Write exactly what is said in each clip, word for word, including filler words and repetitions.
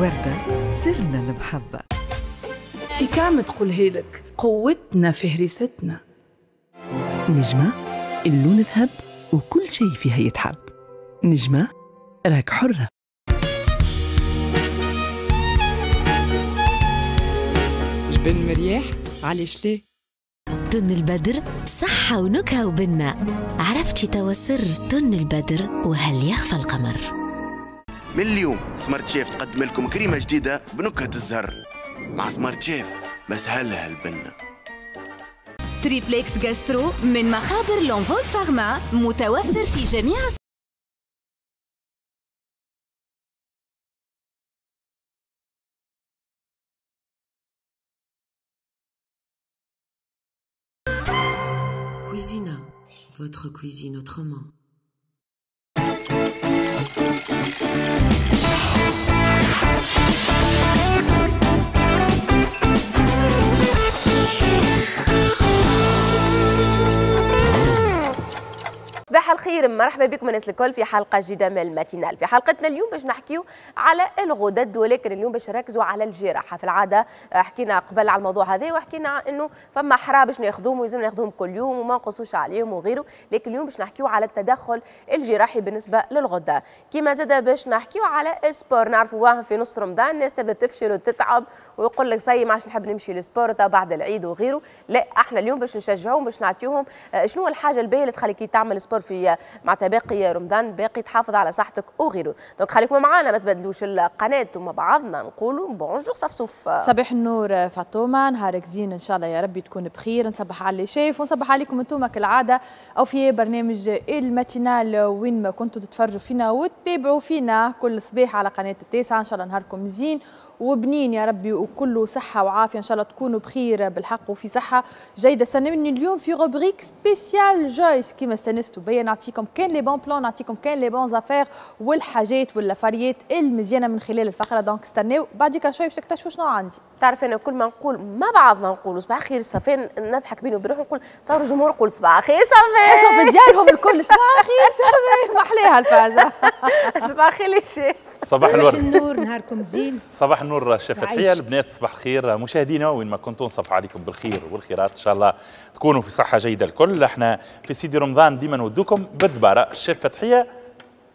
وردة سرنا المحبة. سيكام تقولها لك، قوتنا في هريستنا. نجمة اللون ذهب وكل شيء فيها يتحب. نجمة راك حرة. جبن مرياح علاش ليه؟ تن البدر صحة ونكهة وبنة. عرفتي توا سر تن البدر وهل يخفى القمر؟ من اليوم سمارت شيف تقدم لكم كريمة جديدة بنكهة الزهر. مع سمارت شيف مسهلها البنة. Triplex Gastro من مخابر لونفول فارما، متوفر في جميع Cuisina, votre cuisine autrement. صباح الخير، مرحبا بكم الناس الكل في حلقة جديدة من ال matinale. في حلقتنا اليوم باش نحكيو على الغدد، ولكن اليوم باش نركزوا على الجراحة. في العادة حكينا قبل على الموضوع هذا وحكينا انه فما حرابش باش ناخذوهم ولازم ناخذوهم كل يوم وما نقصوش عليهم وغيره، لكن اليوم باش نحكيو على التدخل الجراحي بالنسبة للغده. كيما زاد باش نحكيو على sport، نعرفوا في نص رمضان الناس تبدا تفشل وتتعب ويقول لك ça y est ما عادش نحب نمشي لل sport بعد العيد وغيره. لا، احنا اليوم باش نشجعوهم، باش نعطيوهم شنو الحاجة الباهيه اللي تخليك تعمل sport في مع باقي رمضان، باقي تحافظ على صحتك وغيره. donc خليكم معنا ما تبدلوش القناة ومع بعضنا نقولوا bonjour صفصوف. صباح النور فاطمة، نهارك زين ان شاء الله يا ربي تكون بخير. نصبح على les chefs ونصبح عليكم انتم كالعادة او في برنامج ال matinale وين ما كنتوا تتفرجوا فينا وتتابعوا فينا كل صباح على قناة التاسعة. ان شاء الله نهاركم زين وبنين يا ربي وكله صحة وعافية، إن شاء الله تكونوا بخير بالحق وفي صحة جيدة. استنوني اليوم في rubrique spéciale جويس كيما استنستوا بيا، نعطيكم كان les bons plans، نعطيكم كان les bonnes affaires والحاجات واللافاريات المزيانة من خلال الفقرة. donc استناو بعديك شوي باش تكتشفوا شنو عندي. تعرف أنا كل ما نقول ما بعضنا نقولوا صباح خير صافي، نضحك بيني وبين روحي نقول صار الجمهور يقول صباح خير صافي، صافي ديالهم الكل صباح خير صافي، ما احلاها الفازة. صباح خير الشيخ. صباح الورد. النور، نهاركم زين. صباح النور شيف فتحية، البنات صباح الخير، مشاهدينا وين ما كنتم صباح عليكم بالخير والخيرات، ان شاء الله تكونوا في صحة جيدة الكل. احنا في سيدي رمضان ديما نودوكم بالدبارة. الشيف فتحية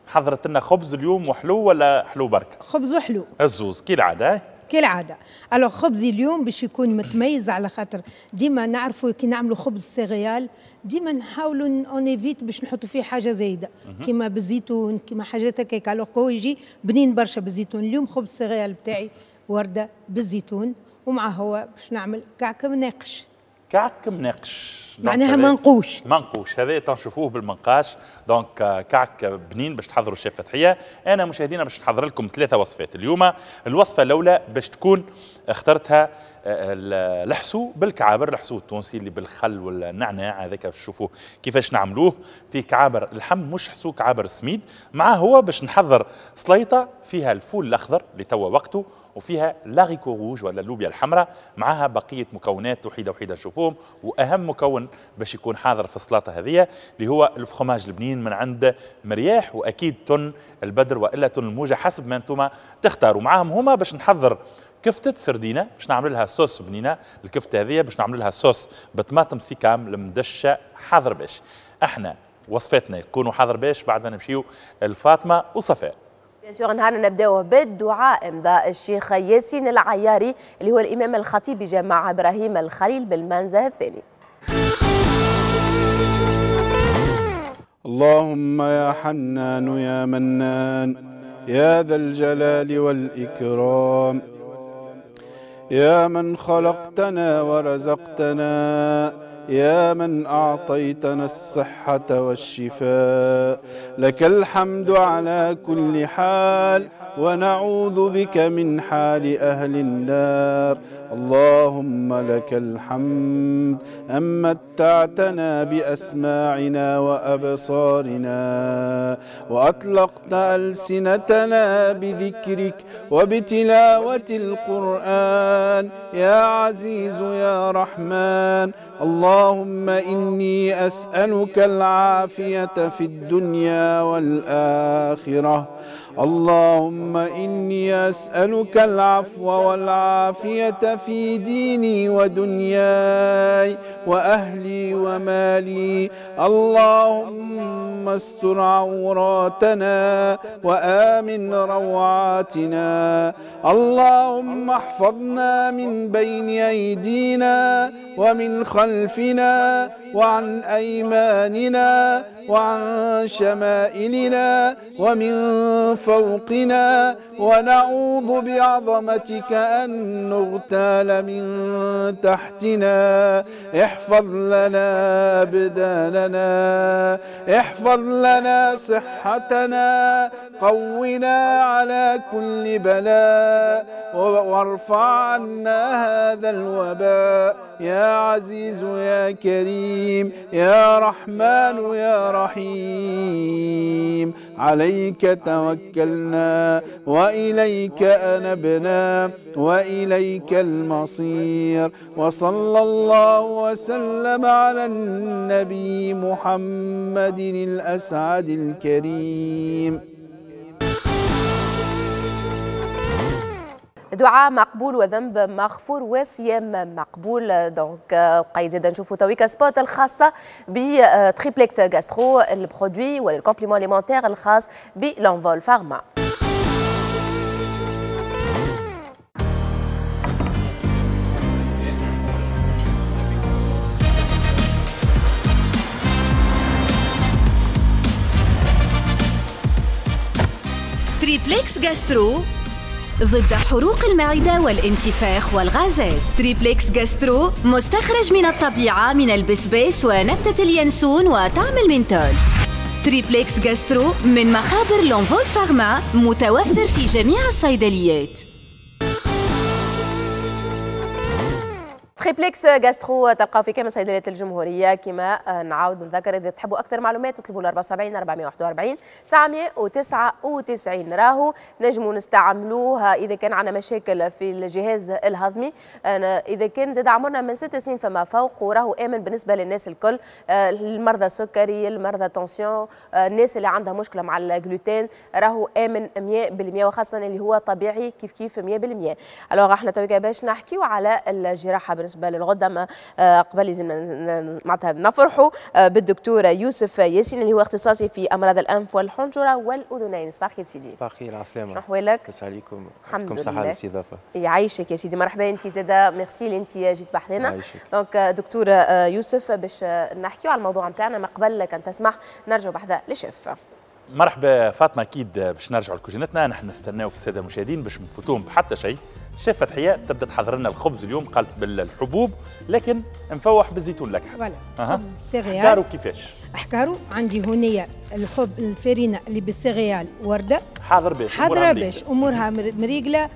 حضرت لنا خبز اليوم وحلو ولا حلو برك؟ خبز وحلو الزوز كالعادة. كالعادة. alors خبزي اليوم باش يكون متميز، على خاطر ديما نعرفوا كي نعملوا خبز céréales ديما نحاولوا on évite باش نحطوا فيه حاجة زايدة كيما بالزيتون كيما حاجات هكاك، alors هو يجي بنين برشا بالزيتون. اليوم خبز céréales بتاعي ورده بالزيتون، ومع هو باش نعمل كعك مناقش. كعك مناقش معناها منقوش. منقوش هذا تنشوفوه بالمنقاش. donc كعك بنين باش تحضروا الشيف فتحيه. انا مشاهدينا باش نحضر لكم ثلاثة وصفات اليوم. الوصفة الاولى باش تكون اخترتها الحسو بالكعابر، الحسو التونسي اللي بالخل والنعناع هذاك باش تشوفوه كيفاش نعملوه في كعابر اللحم، مش حسو كعابر السميد. مع هو باش نحضر سليطه فيها الفول الاخضر اللي توا وقته، وفيها l'haricot rouge ولا اللوبيا الحمراء، معها بقية مكونات وحيده وحيده نشوفوهم. واهم مكون باش يكون حاضر في السلطة هذه اللي هو الفخماج البنين من عند مرياح، واكيد تن البدر والا تن الموجه حسب ما انتم تختاروا. معاهم هما باش نحضر كفتة سردينة باش نعمل لها صوص بنينة. الكفتة هذه باش نعمل لها صوص بطماطم سيكام المدشة حاضر باش. احنا وصفاتنا يكونوا حاضر باش بعد ما نمشيو لفاطمة وصفاء. bien sûr نهارنا نبداوه بالدعاء. امضاء الشيخ ياسين العياري اللي هو الامام الخطيب بجامع ابراهيم الخليل بالمنزه الثاني. اللهم يا حنان يا منان يا ذا الجلال والإكرام، يا من خلقتنا ورزقتنا، يا من أعطيتنا الصحة والشفاء، لك الحمد على كل حال، ونعوذ بك من حال أهل النار. اللهم لك الحمد أن متعتنا بأسماعنا وأبصارنا، وأطلقت ألسنتنا بذكرك وبتلاوة القرآن، يا عزيز يا رحمن. اللهم إني أسألك العافية في الدنيا والآخرة. اللهم إني أسألك العفو والعافية في ديني ودنياي وأهلي ومالي. اللهم استر عوراتنا وآمن روعاتنا. اللهم احفظنا من بين أيدينا ومن خلفنا وعن أيماننا وعن شمائلنا ومن فوقنا، ونعوذ بعظمتك أن نغتال من تحتنا. احفظ لنا أبداننا، احفظ لنا صحتنا، قونا على كل بلاء، وارفع عنا هذا الوباء يا عزيز يا كريم يا رحمن يا رحيم. عليك توكلنا وإليك أنبنا وإليك المصير. وصلى الله وسلم على النبي محمد الأسعد الكريم. دعاء مقبول وذنب مغفور وصيام مقبول. donc بقى زاد نشوفوا تويكا spot الخاصة ب Triplex Gastro، ال produit ولا ال complément alimentaire الخاص ب L'Envol Pharma. Triplex Gastro ضد حروق المعدة والانتفاخ والغازات. Triplex Gastro مستخرج من الطبيعة من البسباس ونبتة اليانسون وطعم المنتول. Triplex Gastro من مخابر L'Envol Pharma، متوفر في جميع الصيدليات. Triplex Gastro تلقاو في كامل صيدليات الجمهورية. كما نعاود نذكر اذا تحبوا اكثر معلومات تطلبوا أربعة وسبعين أربعمية وواحد وأربعين تسعمية وتسعة وتسعين. راهو نجموا نستعملوها اذا كان عندنا مشاكل في الجهاز الهضمي، اذا كان زاد عمرنا من ست سنين فما فوق، وراهو امن بالنسبة للناس الكل، المرضى السكري، المرضى tension، الناس اللي عندها مشكلة مع الجلوتين، راهو امن مية بالمية، وخاصة اللي هو طبيعي كيف كيف مية بالمية. alors احنا تويكا باش نحكيو على الجراحة بالنسبة للغده. قبل لازم معناتها نفرحوا بالدكتور يوسف ياسين اللي هو اختصاصي في امراض الانف والحنجره والاذنين. صباح الخير سيدي. صباح الخير، على السلامة. شنو احوالك؟ لاباس عليكم؟ الحمد لله. يعطيكم الصحة على الاستضافة. يعيشك يا سيدي، مرحبا. انت زاده ميرسي اللي انت جيت بحذنا. donc دكتور يوسف باش نحكيو على الموضوع نتاعنا، ما قبل كان تسمح نرجعوا بحذا للشيف. مرحبا فاطمة، اكيد باش نرجعوا لكوجينتنا. نحن نستناو في السادة المشاهدين باش نفوتوهم بحتى شيء. شيف فتحيه تبدا تحضر لنا الخبز اليوم، قالت بالحبوب لكن مفوح بالزيتون الاكحل. voilà، خبز بال céréales. احكارو كيفاش؟ احكارو عندي هنيه الخبز الفرينة اللي بال céréales ورده حاضر باش حاضره باش امورها مريقله،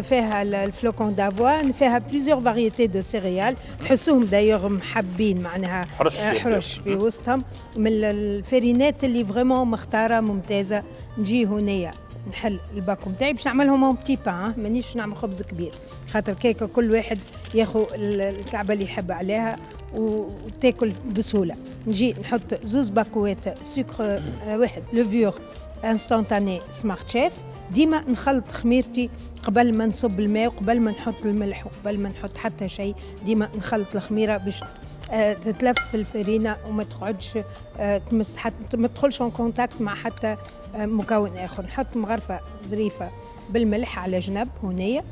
فيها ال flocons d'avoine، فيها plusieurs variétés de céréales، تحسوهم d'ailleurs محبين معناها حرش, حرش في وسطهم، من الفرينات اللي vraiment مختاره ممتازة. نجي هنيه نحل الباكو نتاعي باش نعملهم en petits pains، مانيش نعمل خبز كبير خاطر كيكة كل واحد ياخذ الكعبة اللي يحب عليها وتاكل بسهولة. نجي نحط زوز باكوات سكر، واحد levure instantanée Smart Chef. ديما نخلط خميرتي قبل ما نصب الماء وقبل ما نحط الملح وقبل ما نحط حتى شيء، ديما نخلط الخميره باش تتلف في الفرينة وما تقعدش تمس حتى ما تدخلش en contact مع حتى مكون اخر. نحط مغرفه ظريفة بالملح على جنب هنيه،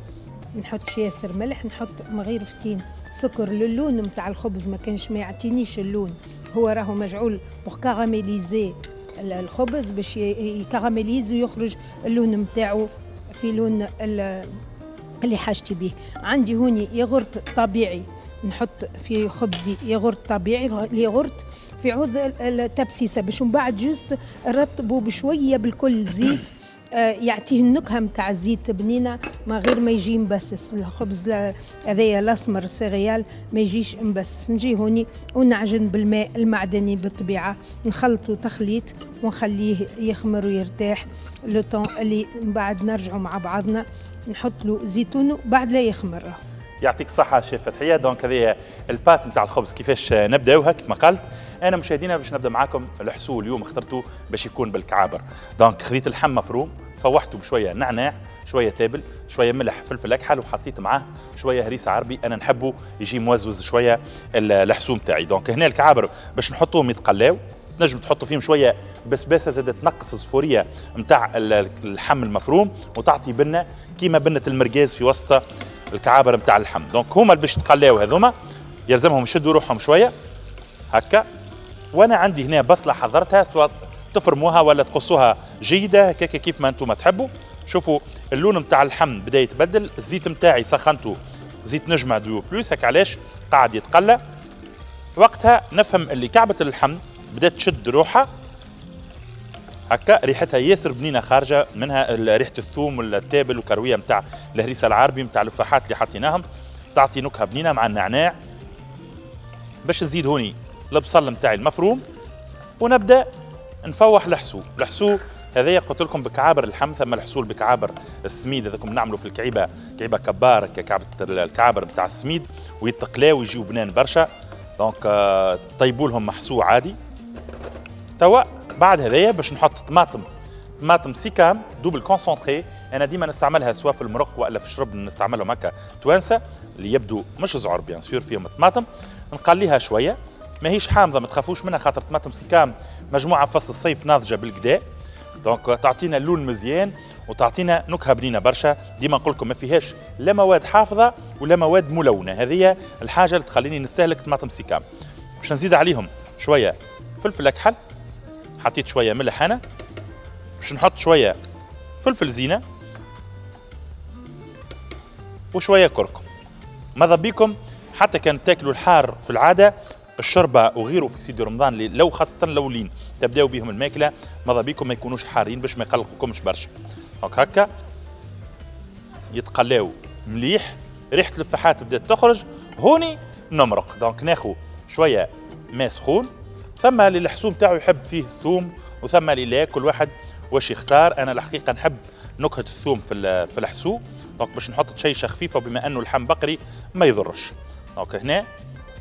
نحطش ياسر ملح، نحط مغيرفتين سكر للون نتاع الخبز، ما كانش ما يعطينيش اللون، هو راهو مجعول pour caraméliser الخبز باش ي caramélise ويخرج اللون نتاعو في لون اللي حاجتي به. عندي هوني ياغورت طبيعي، نحط في خبزي ياغورت طبيعي، الياغورت في عوض التبسيسه باش من بعد juste نرطبه بشوية بالكل زيت، يعطيه النكهة نتاع الزيت بنينه ما غير ما يجي مبسس الخبز هذايا الاسمر ال céréales ما يجيش مبسس. نجي هوني ونعجن بالماء المعدني بالطبيعة، نخلطه تخليط ونخليه يخمر ويرتاح le temps اللي من بعد نرجعوا مع بعضنا. نحط له زيتون بعد لا يخمر. يعطيك الصحة شيف فتحية. donc هذه ال pâte نتاع الخبز كيفاش نبداوها كيف ما قالت. أنا مشاهدينا باش نبدا معاكم الحسو اليوم اخترته باش يكون بالكعابر. donc خذيت اللحم مفروم، فوحته بشوية نعناع، شوية تابل، شوية ملح، فلفل أكحل، وحطيت معاه شوية هريسة عربي. أنا نحبه يجي موزوز شوية الحسو نتاعي. donc هنا الكعابر باش نحطوهم يتقلاو، تنجم تحطوا فيهم شوية بسباسه زادت تنقص الصفوريه نتاع اللحم المفروم وتعطي بنه كيما بنه المرقاز في وسط الكعابر نتاع اللحم. donc هما اللي باش تقلاو هذوما يلزمهم يشدوا روحهم شوية هكا. وانا عندي هنا بصله حضرتها، سواء تفرموها ولا تقصوها جيدة هكاك كيف ما انتم تحبوا. شوفوا اللون نتاع اللحم بدا يتبدل، الزيت نتاعي سخنته زيت نجمه Duo Plus، هكا علاش قاعد يتقلى. وقتها نفهم اللي كعبه اللحم بدات تشد روحها هكا، ريحتها ياسر بنينه خارجه منها ريحه الثوم والتابل والكرويه نتاع الهريسه العربي نتاع الفاحات اللي حطيناهم، تعطي نكهة بنينه مع النعناع. باش نزيد هوني البصل نتاعي المفروم ونبدا نفوح الحسو. الحسو هذايا قلت لكم بكعابر اللحم، ثم الحسول بكعابر السميد هذاكم نعملوا في الكعيبه، كعيبه كبار كعبه الكعابر نتاع السميد، ويتقلاو ويجيو بنان برشا. donc طيبوا لهم محسو عادي. توا بعد هذايا باش نحط طماطم، طماطم سيكام double concentré. انا ديما نستعملها سواء في المرق والا في الشرب، نستعملهم هكا توانسة اللي يبدو مش زعر bien sûr فيهم الطماطم. نقليها شوية، ماهيش حامضه ما تخافوش منها خاطر طماطم سيكام مجموعة فصل الصيف ناضجة بالكدا، donc تعطينا اللون مزيان وتعطينا نكهة بنينه برشا. ديما نقول لكم ما فيهاش لا مواد حافظه ولا مواد ملونة، هذه الحاجة اللي تخليني نستهلك طماطم سيكام. باش نزيد عليهم شوية فلفل اكحل، حطيت شوية ملح انا، باش نحط شوية فلفل زينة وشوية كركم. ماذا بيكم حتى كان تاكلوا الحار في العادة، الشربه وغيره في سيدي رمضان لو خاصة الاولين تبداو بهم الماكلة، ماذا بيكم ما يكونوش حارين باش ما يقلقوكمش برشا. donc هكا يتقلاو مليح، ريحه الفاحات بدات تخرج. هوني نمرق، donc ناخو شوية ماء سخون. ثم اللي الحسوم تاعو يحب فيه الثوم وثم اللي لا، كل واحد واش يختار. انا الحقيقة نحب نكهة الثوم في في الحسو، donc باش نحط تشيشه خفيفة، وبما انه اللحم بقري ما يضرش. donc هنا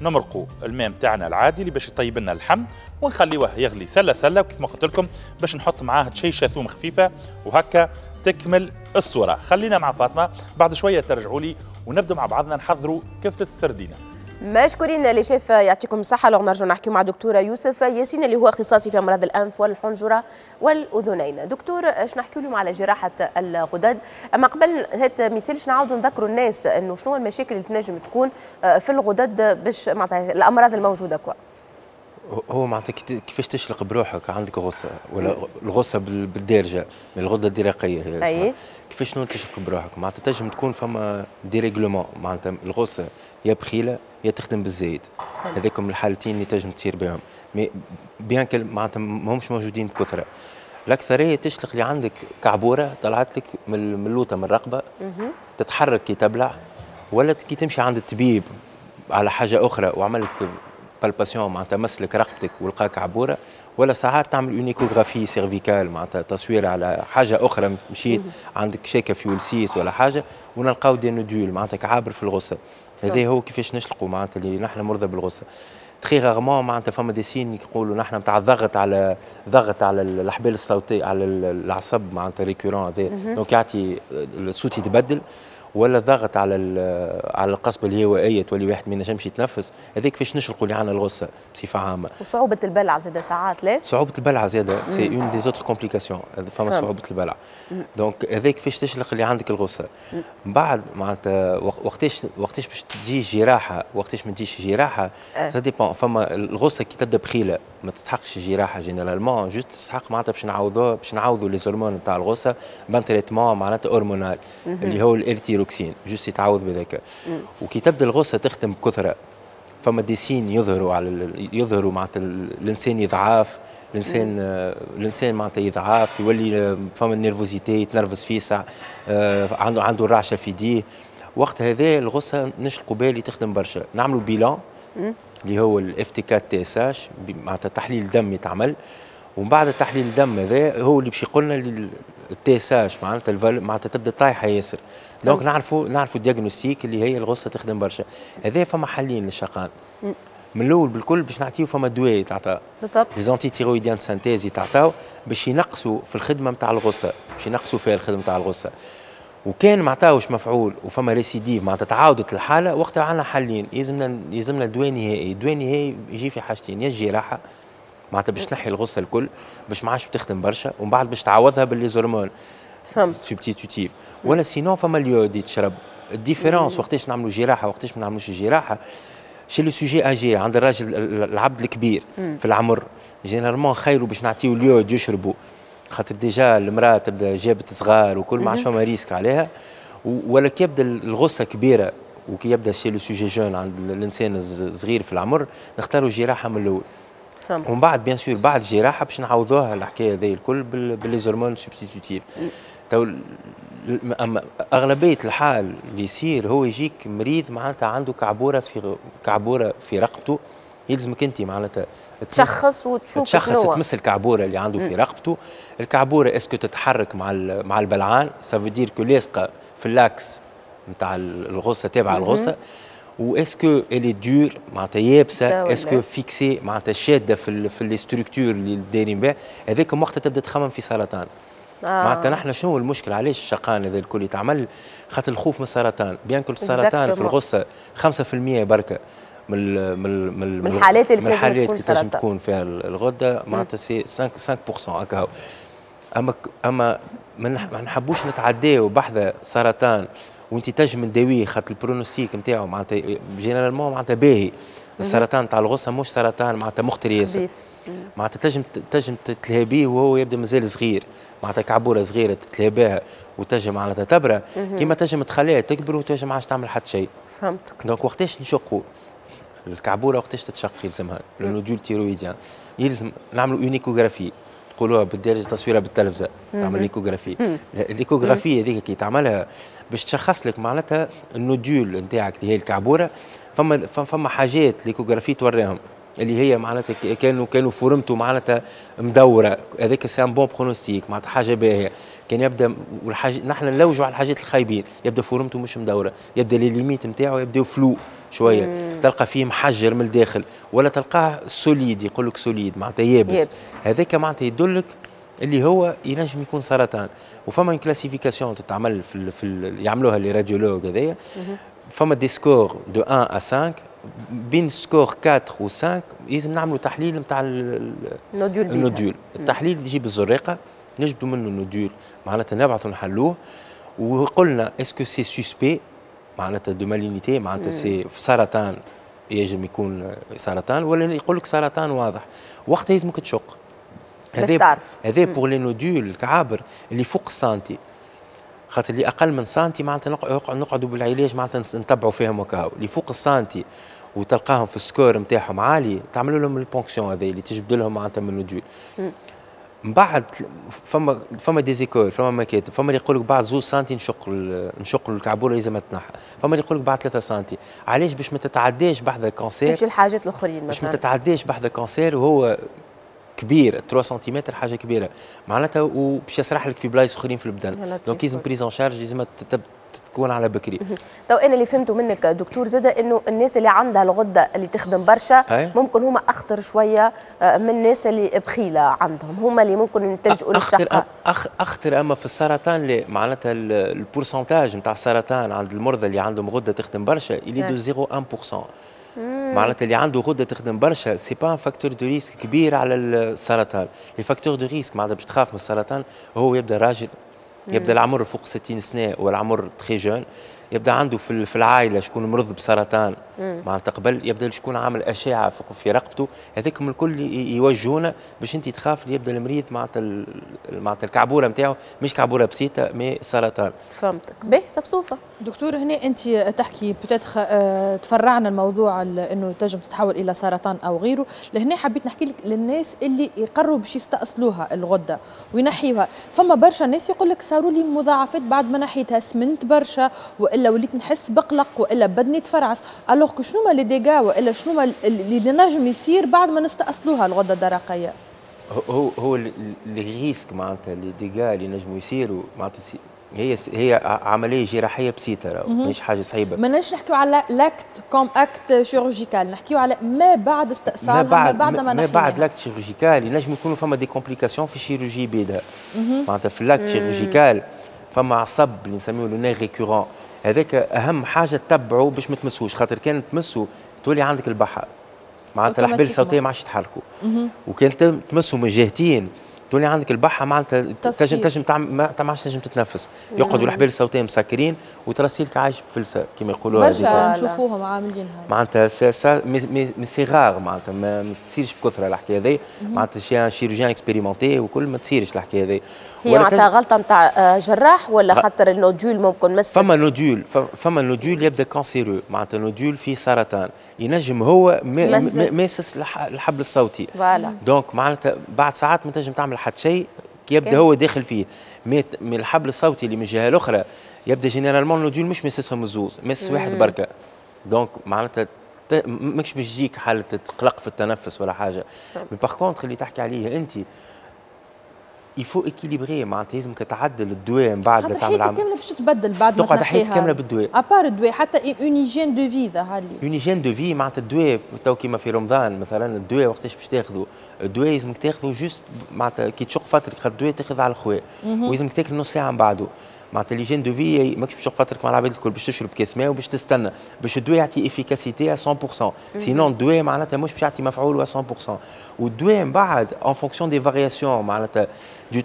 نمرقوا الماء نتاعنا العادي اللي باش يطيب لنا اللحم ونخليوه يغلي سله سله، وكيف ما قلت لكم باش نحط معاه تشيشه ثوم خفيفة وهكا تكمل الصورة. خلينا مع فاطمة بعد شوية ترجعوا لي ونبدو مع بعضنا نحضروا كفته السردينه. مشكورين les chefs، يعطيكم الصحة. لو نرجع نحكي مع دكتورة يوسف ياسين اللي هو اختصاصي في أمراض الأنف والحنجرة والأذنين. دكتور، اش نحكي لهم على جراحة الغدد؟ أما قبل هات ميسالش نعاودوا نذكروا الناس أنه شنو المشاكل اللي تنجم تكون في الغدد باش معناتها الأمراض الموجودة quoi. هو معناتها كيفاش تشلق بروحك عندك غصة ولا الغصة بالدارجة من الغدة الدرقية هي اسمها. كيفاش شنو تشلق بروحك؟ معناتها تنجم تكون فما dérèglement، معناتها الغصة يا بخيله يا تخدم بالزايد، هذاكم الحالتين اللي تنجم تصير بهم، mais bien que معناتها ماهمش موجودين بكثرة. الاكثرية تشلق اللي عندك كعبوره طلعت لك من اللوطه من الرقبة، تتحرك كي تبلع، ولا كي تمشي عند الطبيب على حاجة اخرى وعمل لك palpation معناتها مسلك رقبتك ولقاك عبوره، ولا ساعات تعمل une échographie cervicale معناتها تصوير على حاجة اخرى، مشيت عندك شاكه في ولسيس ولا حاجة ونلقاو des nodules معناتها كعابر في الغصة. هذا هو كيفاش نشلقوا معناتها اللي نحن مرضى بالغصه. très rarement معناتها فما des signes يقولوا نحن نتاع ضغط على ضغط على الاحبال الصوتية على العصب معناتها récurrent هذا، donc يعطي الصوت يتبدل، ولا ضغط على على القصبة الهوائية تولي واحد ما ينجمش يتنفس. هذاك كيفاش نشلقوا اللي عندنا الغصة بصفة عامة. وصعوبة البلع زاده ساعات لا؟ صعوبة البلع زاده c'est une des autres complications، فما صعوبة البلع. donc هذاك كيفاش تشلق اللي عندك الغصة. من بعد معناتها وقتاش وقتاش باش تجي جراحه وقتاش ما تجيش جراحه ça dépend. فما الغصة كي تبدا بخيله ما تستحقش جراحه généralement، juste تستحق معناتها باش نعوضوها باش نعوضوا les hormones نتاع الغصة ب un traitement معناتها hormonal اللي هو ال L-thyroxine، juste يتعوض بذاك. وكي تبدا الغصة تخدم بكثرة فما des signes يظهروا على يظهروا معناتها الانسان يضعاف، الانسان الانسان معناتها يضعاف، يولي فما ال nervosité، يتنرفز فيسع، عنده عنده الرعشه في يديه. وقت هذا الغصة نشلقوا بالي تخدم برشا، نعملوا bilan اللي هو ال FT quatre TSH معناتها تحليل دم يتعمل، ومن بعد تحليل الدم هذا هو اللي باش يقول لنا ال TSH معناتها ال valeur معناتها تبدا طايحة ياسر. donc نعرفوا نعرفوا ال diagnostic اللي هي الغصة تخدم برشا. هذا فما حلين للشقان. من الاول بالكل باش نعطيو فما دواء يتعطى بالضبط، les antithyroïdiens synthèse يتعطاو باش ينقصوا في الخدمة نتاع الغصة، باش ينقصوا فيها الخدمة نتاع الغصة. وكان ما عطاوش مفعول وفما récidive معناتها تعاودت الحالة، وقتها عندنا حلين، يلزمنا يلزمنا دواء نهائي. دواء نهائي يجي في حاجتين، يا الجراحة معناتها باش تنحي الغصة الكل باش ما عادش بتخدم برشا، ومن بعد باش تعوضها ب les hormones فهمت substitutives، ولا sinon فما l'iode يتشرب. ال différence وقتاش نعملوا جراحه وقتاش ما نعملوش جراحه، chez le sujet âgé عند الراجل العبد الكبير في العمر généralement خيروا باش نعطيو l'iode يشربوا، خاطر déjà المراة تبدا جابت صغار وكل ما عادش فما risque عليها. ولا كي يبدا الغصة كبيرة وكي يبدا chez le sujet jeune عند الانسان الصغير في العمر نختاروا جراحه من الاول. فهمت. ومن بعد bien sûr بعد الجراحة باش نعوضوها الحكاية هذه الكل ب les hormones substitutives. تو اما اغلبية الحال اللي يصير هو يجيك مريض معناتها عنده كعبوره في كعبوره في رقبته، يلزمك انت معناتها تشخص وتشوف تشخص تمس الكعبوره اللي عنده في رقبته. الكعبوره est-ce que تتحرك مع مع البلعان، ça veut dire que لاصقه في l'axe نتاع الغصة تابعه الغصة، و est-ce que elle est dure معناتها يابسة، est-ce que fixée معناتها شاده في في les structures اللي دايرين بها. هذاك وقتها تبدا تخمم في سرطان. آه. معناتها نحن شنو المشكل علاش الشقان هذا الكل يتعمل؟ خاطر الخوف من السرطان، bien que السرطان في الغصة خمسة في المية بركة من من من الحالات اللي من الحالات اللي تنجم تكون فيها الغدة، معناتها c'est خمسة خمسة في المية هكا. اما اما ما نحبوش نتعداو بحذا سرطان وانت تنجم تداويه، خاطر ال pronostic نتاعو معناتها généralement معناتها باهي. السرطان تاع الغصة مش سرطان معناتها مخطر ياسر، معناتها تنجم تنجم تتلهي بيه وهو يبدا مازال صغير، معناتها كعبوره صغيرة تتلهي بها وتنجم معناتها تبرى، كيما تنجم تخليها تكبر وتنجم ما عادش تعمل حتى شيء. فهمت. donc وقتاش نشقوا الكعبوره؟ وقتاش تتشق يلزمها le nodule thyroïdien، يلزم نعملوا une échographie، تقولوها بالدارجة تصويره بالتلفزه، تعمل l'échographie. l'échographie هذيك كي تعملها باش تشخص لك معناتها ال nodule نتاعك اللي هي الكعبوره. فما فما حاجات l'échographie توريهم اللي هي معناتها كانوا كانوا forme ته معناتها مدورة، هذاك c'est un bon pronostic معناتها حاجة باهيه. كان يبدا والحاجة نحن نلوجوا على الحاجات الخايبين، يبدا forme ته مش مدورة، يبدا les limites نتاعو يبداو floues شوية، مم. تلقى فيه محجر من الداخل ولا تلقاه solide، يقول لك solide معناتها يابس، يابس. هذاك معناتها يدلك اللي هو ينجم يكون سرطان. وفما classification تتعمل في, ال في ال يعملوها les radiologues هذايا، فما des scores de واحد à خمسة، بين score أربعة و خمسة لازم نعملوا تحليل نتاع ال nodule. ال nodule التحليل يجيب الزريقه نجبدوا منه ال nodule معناتها نبعثوا نحلوه، وقلنا est-ce que c'est suspect معناتها de malignité معناتها c'est سرطان، يجب يكون سرطان ولا يقول لك سرطان واضح، وقتها لازمك تشق. هذا هذا pour les nodules الكعابر اللي فوق السنتي، خاطر اللي اقل من سنتي معناتها نقعدوا بالعلاج معناتها نتبعوا فيهم وكاو. اللي فوق السنتي وتلقاهم في ال score نتاعهم عالي تعملوا لهم ال ponction هذا اللي تجبد لهم معناتها من ال nodule. من بعد فما فما des écoles، فما مكاتب، فما اللي يقول لك بعد زوز سنتي نشق نشق الكعبوره لازم تنحى، فما اللي يقول لك بعد ثلاثة سنتي. علاش؟ باش ما تتعداش بحذا cancer، باش الحاجات الاخرين مثلا باش ما تتعداش بحذا cancer وهو كبير ثلاثة سنتيمتر حاجة كبيرة معناتها، وباش يسرح لك في بلايص اخرين في البدن. donc لازم prise en charge لازم تكون على بكري. تو انا اللي فهمته منك دكتور زاده انه الناس اللي عندها الغدة اللي تخدم برشا ممكن هما اخطر شوية من الناس اللي بخيله عندهم، هما اللي ممكن يلتجئوا للشقه. أخ اخطر اما في السرطان لا، معناتها ال pourcentage نتاع السرطان عند المرضى اللي عندهم غده تخدم برشا il est de صفر فاصلة واحد بالمية. معناتها اللي عنده غده تخدم برشا c'est pas un facteur de risque كبير على السرطان. les facteurs de risque معناتها باش تخاف من السرطان هو يبدا راجل، يبدا العمر فوق ستين سنة والعمر très jeune، يبدا عنده في في العائلة شكون مرض بسرطان معناتها قبل، يبدا شكون عامل اشعه في رقبته، هذاكم الكل يوجهونا باش انت تخاف اللي يبدا المريض معناتها معناتها الكعبوره نتاعو مش كعبوره بسيطة mais سرطان. فهمتك. باهي صفصوفه دكتور، هنا انت تحكي peut-être اه تفرعنا الموضوع انه تنجم تتحول الى سرطان او غيره، لهنا حبيت نحكي لك للناس اللي يقروا باش يستأصلوها الغدة وينحيوها، فما برشا ناس يقول لك صاروا لي مضاعفات بعد ما نحيتها، سمنت برشا والا وليت نحس بقلق والا بدني تفرعس، alors que شنو ما les dégâts والا شنو ما اللي نجم يصير بعد ما نستأصلوها الغدة الدرقية؟ هو هو les risques معناتها les dégâts اللي نجموا يصيروا معناتها هي هي عملية جراحية بسيطة، مش حاجة صعيبة. ماناش نحكيو على l'acte comme acte chirurgical، نحكيو على ما بعد استئصالها، ما بعد ما, بعد ما, ما بعد l'acte chirurgical ينجم يكونوا فما des complications في ال chirurgie بيدها. معناتها في l'acte chirurgical فما عصب اللي نسميه le nerf récurrent، هذاك اهم حاجة تتبعه باش ما تمسوش، خاطر كان تمسه تولي عندك البحه، معناتها الأحبال الصوتية ما عادش يتحركوا، وكان تمسوا من جهتين تولي عندك البحه، معناتها تنجم تنجم ما عادش تنجم تتنفس، يقعدوا الأحبال الصوتية مسكرين وترسيلك عايش بفلسه كما يقولوها. برشا نشوفوهم عاملينها معناتها ça mais c'est rare، معناتها ما تصيرش بكثرة الحكاية هذه، معناتها chez chirurgien expérimenté وكل ما تصيرش الحكاية هذه. هي معناتها غلطه نتاع جراح ولا خاطر ال nodule ممكن مس؟ فما nodule، فما nodule يبدا cancéreux، معناتها nodule فيه سرطان ينجم هو ماسس الحبل الصوتي. voilà donc معناتها بعد ساعات ما تنجم تعمل حتى شيء كي يبدا هو داخل فيه، من الحبل الصوتي اللي من الجهة الاخرى يبدا généralement nodule مش مسسهم الزوز، مس واحد بركة. donc معناتها ماكش باش تجيك حاله قلق في التنفس ولا حاجة. mais par contre اللي تحكي عليه انت il faut équilibrer، معناتها لازمك تعدل الدواء من بعد. خاطر حياتك كاملة باش تتبدل بعد ما تقعد حياتك كاملة بالدواء. à part الدواء حتى une hygiène de vie ظهر لي. une hygiène de vie معناتها الدواء تو كيما في رمضان مثلا، الدواء وقتاش باش تاخذه؟ الدواء لازمك تاخذه juste معناتها كي تشق فطرك، خاطر الدواء تاخذ على الخواء ولازمك تاكل نص ساعة من بعده. معناتها l'hygiène de vie ماكش باش تشق فطرك مع العباد الكل، باش تشرب كاس ماء وباش تستنى باش الدواء يعطي efficacité مية بالمية، sinon الدواء معناتها مش باش يعطي مفعول مية بالمية. والدواء من بعد en fonction des variations معناتها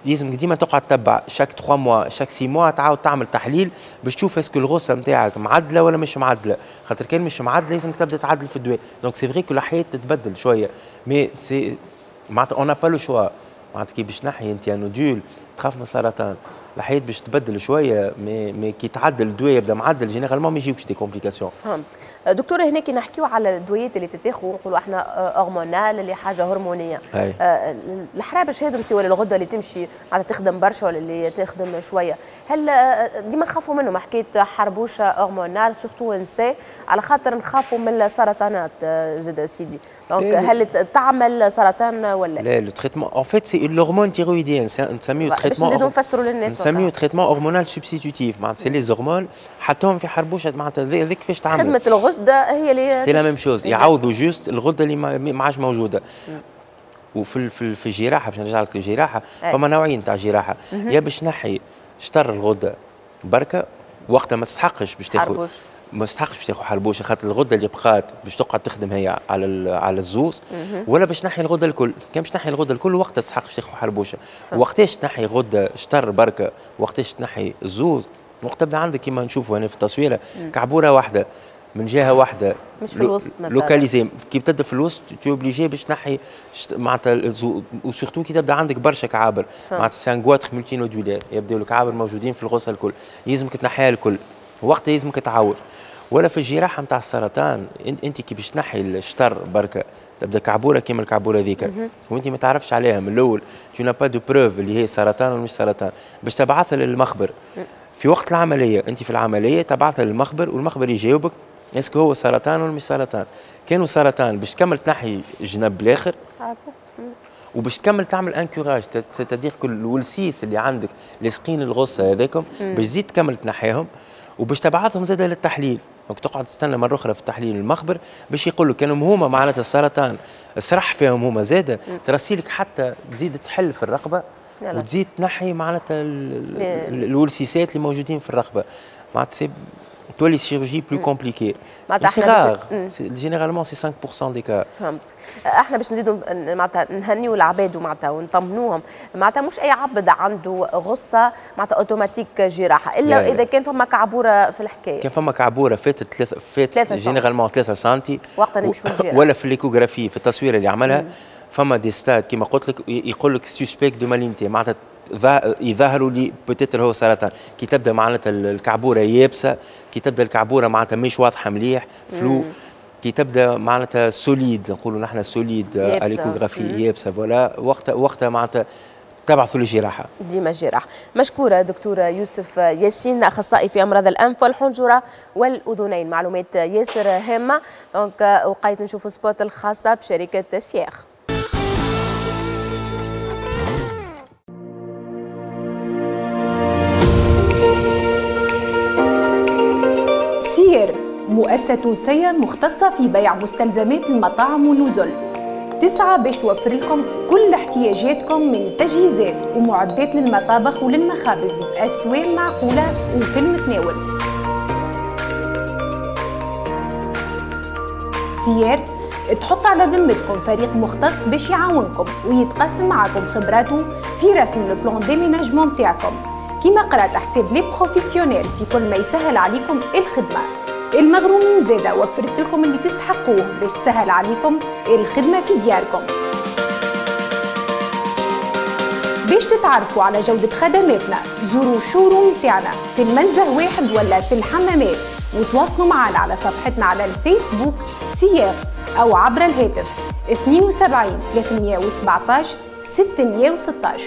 لازمك ديما تقعد تتبع chaque trois mois، chaque six mois تعاود تعمل تحليل باش تشوف est-ce que الغصة نتاعك معدله ولا مش معدله، خاطر كان مش معدله لازمك تبدا تعدل في الدواء. donc c'est vrai que الحياة تتبدل شوية، mais c'est معناتها on n'a pas le choix. معناتها كي باش تنحي انت nodule تخاف من السرطان، الحياة باش تبدل شوية، mais mais كي تعدل الدواء يبدا معدل généralement ما يجيوكش des complications. فهمت دكتورة. هنا كي نحكيو على الدويات اللي تتاخذ نقولوا احنا hormonal اللي حاجة هرمونيه، آه الحرابش هذو ولا الغدة اللي تمشي معناتها تخدم برشا ولا اللي تخدم شوية، هل ديما نخافوا منهم حكاية حربوشه hormonale surtout نساء على خاطر نخافوا من السرطانات زاد سيدي، donc هل تعمل سرطان ولا لا؟ le traitement en fait c'est l'hormone thyroïdienne، نسميو traitement، باش نزيدوا نفسروا للناس، نسميو traitement hormonal substitutif، معناتها c'est les hormones حطوهم في حربوشه، معناتها هذيك كيفاش تعمل خدمة الغدة هي اللي c'est la même chose، يعوضوا juste الغدة اللي ما عادش موجودة. وفي في, في الجراحة باش نرجع لك الجراحة، فما نوعين تاع جراحه، يا باش نحي شطر الغدة بركة وقتها ما تستحقش باش تاخذ ما تستحقش باش تاخذ حربوشه، خاطر الغدة اللي بقات باش تقعد تخدم هي على على الزوز، ولا باش تنحي الغدة الكل. كان باش تنحي الغدة الكل وقتها تستحق باش تاخذ حربوشه. وقتاش تنحي غده شطر بركة وقتاش تنحي الزوز؟ وقت تبدا عندك كيما نشوفوا هنا في التصويره كعبوره واحدة من جهة واحدة، مش في الوسط مثلا localisée. كي تبدا في الوسط t'es obligé باش تنحي معناتها، و surtout كي تبدا عندك برشا كعابر، معناتها c'est un goitre multinodulaire، يبداو الكعابر موجودين في الغصة الكل، يلزمك تنحيها الكل، وقتها يلزمك تعوض. ولا في الجراحة نتاع السرطان انت كي باش تنحي الشطر بركة تبدا كعبوره كيما الكعبوره ذيك وانت ما تعرفش عليها من الاول، tu n'as pas de preuve اللي هي سرطان ولا مش سرطان، باش تبعثها للمخبر في وقت العملية، انت في العملية تبعثها للمخبر والمخبر يجاوبك est-ce que هو سرطان ولا مش سرطان. كانوا سرطان باش تكمل تنحي الجنب الاخر وباش تكمل تعمل un curage، c'est-à-dire que الولسيس اللي عندك لاصقين الغصة هذاكم باش تزيد تكمل تنحيهم وباش تبعثهم زاد للتحليل. donc تقعد تستنى مرة اخرى في التحليل المخبر باش يقول لك كانوا هما معناتها السرطان سرح فيهم هما زاده، ترسيلك حتى تزيد تحل في الرقبة وتزيد تنحي معناتها الولسيسات اللي موجودين في الرقبة، معناتها تولي chirurgie plus compliquée. معناتها c'est rare، généralement c'est cinq pour cent des cas. فهمت. احنا باش نزيدوا معناتها نهنيوا العباد ومعناتها ونطمنوهم، معناتها مش اي عبد عنده غصة معناتها اوتوماتيك جراحه، الا لا اذا كان فما كعبوره في الحكاية. كان فما كعبوره فاتت ثلاثة، فاتت généralement ثلاثة سنتي وقتها نمشوا للجراحه. ولا في l'échographie في التصوير اللي عملها فما des stades كيما قلت لك يقول لك suspect de malignité، معناتها يظهروا لي peut-être هو سرطان، كي تبدا معناتها الكعبوره يابسة، كي تبدا الكعبوره معناتها مش واضحة مليح floue، كي تبدا معناتها solide، نقولوا نحن solide à l'échographie، يابسة، voilà وقتها وقتها معناتها تبعثوا للجراحه. ديما جراحه. مشكورة دكتورة يوسف ياسين، اخصائي في امراض الانف والحنجره والاذنين، معلومات ياسر هامه. donc وقيت نشوفوا spot الخاصة بشركه سياخ. مؤسسة تونسية مختصة في بيع مستلزمات المطاعم والنزل، تسعى باش توفر لكم كل احتياجاتكم من تجهيزات ومعدات للمطابخ وللمخابز بأسوان معقولة وفي المتناول. سيار تحط على ذمتكم فريق مختص باش يعاونكم ويتقاسم معكم خبراته في رسم le plan d'aménagement تاعكم، كيما قرات حساب les professionnels في كل ما يسهل عليكم الخدمة. المغرومين زادة وفرت لكم اللي تستحقوه باش تسهل عليكم الخدمة في دياركم. باش تتعرفوا على جودة خدماتنا زوروا showroom تاعنا في المنزه واحد ولا في الحمامات، وتواصلوا معنا على صفحتنا على الفيسبوك سياغ أو عبر الهاتف اثنين وسبعين ثلاثمية وسبعطاش ستمية وستاش.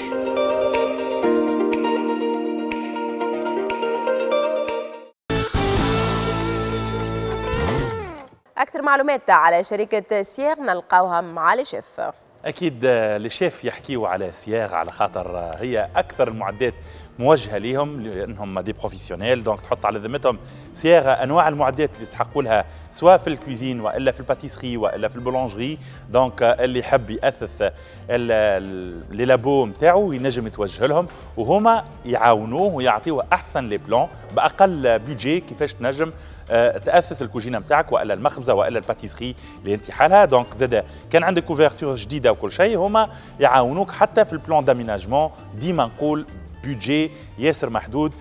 أكثر معلومات على شركة سياغ نلقاوها مع les chefs. أكيد les chefs يحكيوا على سياغ على خاطر هي أكثر المعدات موجهة ليهم لأنهم des professionnels، donc تحط على ذمتهم سياغ أنواع المعدات اللي يستحقوا لها سواء في ال cuisine وإلا في ال pâtisserie وإلا في ال boulangerie. donc اللي يحب يأثث les labos نتاعو ينجم يتوجه لهم وهما يعاونوه ويعطيوه أحسن les plans بأقل budget كيفاش تنجم تأثث الكوجينة نتاعك والا المخبزه والا ال pâtisserie اللي انت حالها. donc زاد كان عندك ouverture جديدة وكل شيء هما يعاونوك حتى في ال plan d'aménagement. ديما نقول budget ياسر محدود،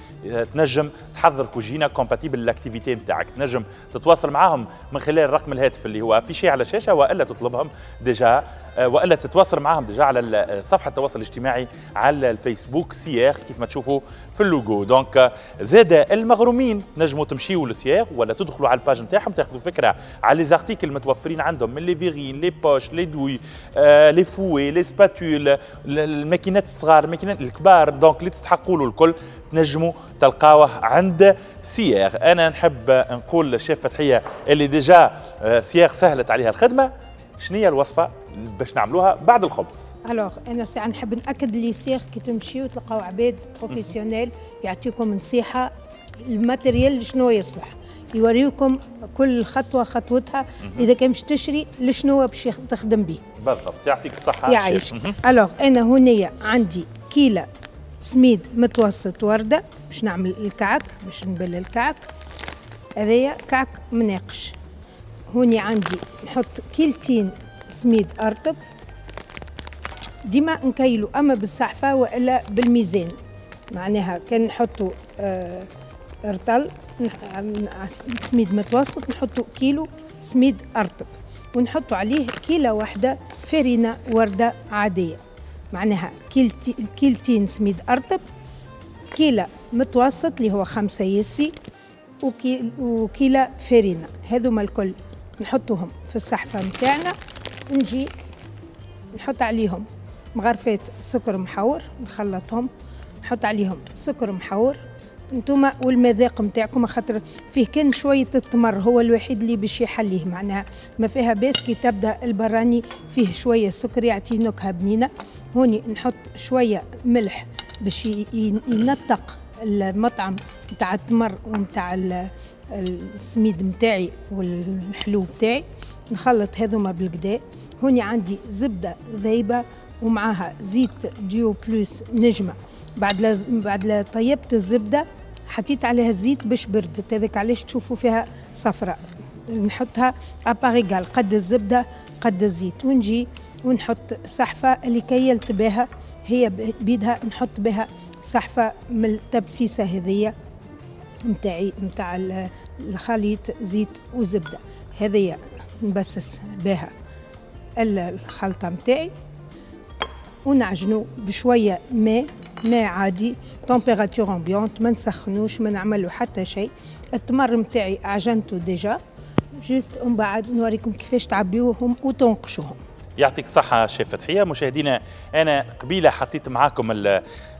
تنجم تحضر كوجينه compatible l'activité نتاعك، تنجم تتواصل معاهم من خلال رقم الهاتف اللي هو affiché على الشاشة والا تطلبهم déjà والا تتواصل معاهم déjà على صفحة التواصل الاجتماعي على الفيسبوك سياغ كيف ما تشوفوا في ال logo. donc زاد المغرومين تنجموا تمشيوا لسياغ ولا تدخلوا على ال page نتاعهم تاخذوا فكرة على les articles المتوفرين عندهم من les verrines les poches les douilles les fouets les spatules الماكينات الصغار الماكينات الكبار، donc اللي تستحقوا له الكل تنجموا تلقاوه عند سياغ. انا نحب نقول للشيف فتحيه اللي déjà سياغ سهلت عليها الخدمة، شنو هي الوصفة باش نعملوها بعد الخبز؟ alors انا ساعة نحب ناكد لي سياغ كي تمشيو تلقاو عباد professionnels يعطيكم نصيحة ال matériel شنو يصلح، يوريوكم كل خطوة خطوتها اذا كان باش تشري لشنو باش تخدم به. بالضبط، يعطيك الصحة. يعيشك. alors انا هنايا عندي كيله سميد متوسط ورده باش نعمل الكعك، باش نبل الكعك. هذايا كعك مناقش. هوني عندي نحط كيلتين سميد ارطب، ديما نكيلو اما بالصحفه والا بالميزان، معناها كان نحطو آه رطل سميد متوسط نحطو كيلو سميد ارطب، ونحطو عليه كيلة واحدة فرينه ورده عادية، معناها كيلتي كيلتين سميد ارطب، كيلة متوسط اللي هو خمسة يسي، وكيلة فرينة. هذوما الكل نحطوهم في الصحفة متاعنا، نجي نحط عليهم مغرفات سكر محور، نخلطهم، نحط عليهم سكر محور انتوما والمذاق نتاعكم، خاطر فيه كان شوية التمر هو الوحيد اللي باش يحليه، معناها ما فيها باس كي تبدا البراني فيه شوية سكر يعطي نكهة بنينه. هوني نحط شوية ملح باش ينطق المطعم نتاع التمر ونتاع السميد نتاعي والحلو نتاعي. نخلط هذوما بالكدا. هوني عندي زبدة ذايبه ومعاها زيت ديو بلوس نجمه. بعد لا بعد لا طيبت الزبدة حطيت عليها الزيت باش بردت، هذاك علاش تشوفوا فيها صفراء. نحطها à parts égales قد الزبدة قد الزيت، ونجي ونحط صحفه اللي كيلت بها هي بيدها، نحط بها صحفه من التبسيسه هذيا نتاعي نتاع الخليط زيت وزبده. هذيا نبسس بها الخلطة نتاعي ونعجنو بشوية ماء، ماء عادي température ambiante، ما نسخنوش ما نعملو حتى شيء. التمر نتاعي عجنته déjà juste، ومن بعد نوريكم كيفاش تعبيوهم وتنقشوهم. يعطيك الصحة شيف فتحية. مشاهدينا أنا قبيلة حطيت معاكم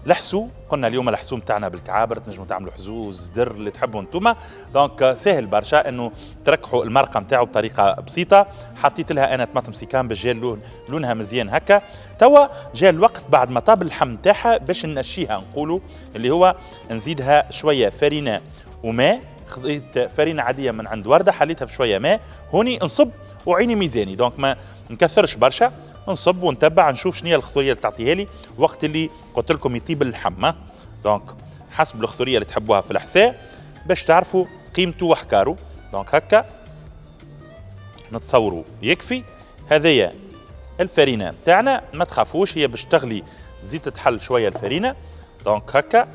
الحسو، قلنا اليوم الحسو نتاعنا بالكعابر، تنجموا تعملوا حزوز زدر اللي تحبوا انتوما، donc ساهل برشا انه تركحوا المرقة نتاعو بطريقة بسيطة. حطيت لها أنا طماطم سيكان باش جا اللون لونها مزيان هكا. توا جا الوقت بعد ما طاب اللحم نتاعها باش ننشيها، نقولوا اللي هو نزيدها شوية فرينة وماء. خذيت فرينه عادية من عند ورده، حليتها في شوية ماء، هوني نصب وعيني ميزاني، donc ما نكثرش برشا، نصب ونتبع نشوف شنو هي الخثوريه اللي تعطيها لي وقت اللي قلت لكم يطيب اللحم. donc حسب الخثوريه اللي تحبوها في الحساء باش تعرفوا قيمته وحكاره. donc هكا نتصوروا يكفي. هذيا الفرينة تاعنا، ما تخافوش هي باش تغلي تزيد تتحل شوية الفرينة. donc هكا